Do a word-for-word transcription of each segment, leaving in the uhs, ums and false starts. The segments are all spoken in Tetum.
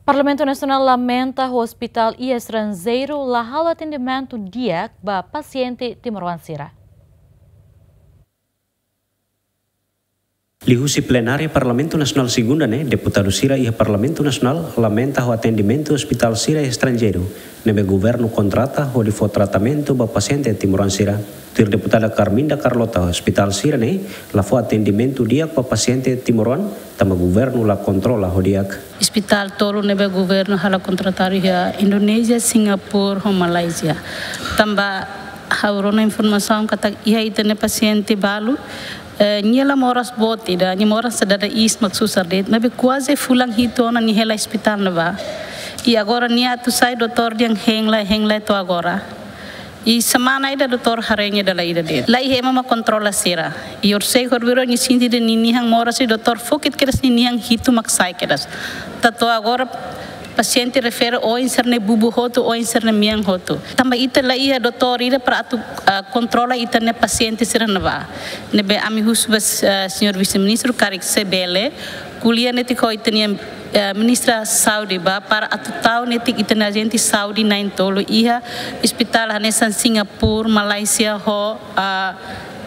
Parlamentu Nasionál lamenta hospitál iha estranjeiru la halo atendimentu di'ak ba pasiente timoroan sira. Liuhusi plenária Parlamentu Nasionál segunda ne'e, deputadu sira iha Parlamentu Nasionál lamenta ho atendimentu hospitál sira estranjeiru ne'ebé governu kontrata hodi fó tratamentu ba pasiente timoroan sira. Tuir deputada Carminda Carlota, hospitál sira ne'e la fó atendimentu di'ak ba pasiente timoroan, tanba governu la kontrola ho di'ak. Hospitál tolu ne'ebé governu halo kontratadu iha Indonézia, Singapura ho Malázia. Tanba ha'u rona informasaun katak iha ita-nia pasiente balu, eh, nia la moras boot ida, nia moras dada iis mak susar de'it, maibé kuaze fulan hitu ona nia hela hospitál ne'ebá. I agora nia atu sai doutór dehan hein lai, hein lai to'o agora. I semana ida doutór haree nia dala ida de'it. La iha ema mak kontrola sira. I orsida horibainrua nia sente dehan ninian moras i doutór fó kedas ninian hitu mak sai kedas. To'o agora pasiente refere oin sira-nia bubu hotu, oin sira-nia mean hotu. Tanba ita la iha doutór ida para atu, ah, kontrola ita-nia pasiente sira ne'ebá. Ne'ebé ami husu ba, ah, señór vise-ministru karik se bele ko'alia netik ho ita-nia, eh, ministra saúde ba para atu tau netik ita-nia ajente saúde na'in-tolu iha hospitál hanesan Singapura, Malázia ho, ah,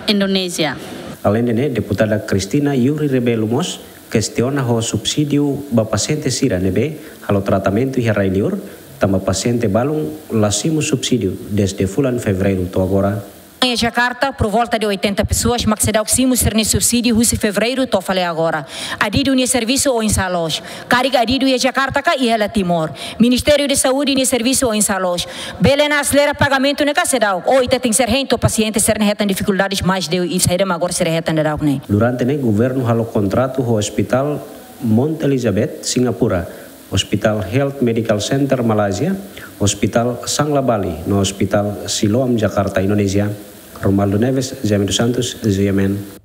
Indonézia. Aleinde ne'e, deputada Cristina Yuri Rebelo mós kestiona ho subsídiu ba pasiente sira ne'ebé halo tratamentu iha rai-liur, tanba pasiente balun la simu subsídiu dezde fulan Fevereiru to'o agora. Em Jakarta, por volta de oitenta pessoas, mak seidauk simu sira-nia subsídiu husi Fevereiru to'o fali agora. Adidu nia servisu oinsá loos? Karik adidu iha Jakarta ka iha hela Timor? Ministériu de Saúde nia servisu oinsá loos? Bele ona aselera pagamentu ne'e ka seidauk? Ou ita tenke ser hein to'o pasiente sira-ne'e hetan difikuldades mais de i saida mak agora sira hetan daudauk ne'e? Durante ne'e governu halo kontratu ho hospitál Mount Elizabeth, Singapura, hospitál Health Medical Center, Malázia, hospitál Sanglah Bali, no hospitál Siloam, Jakarta, Indonézia. Romualdo Neves, Jaime dos Santos, G M N.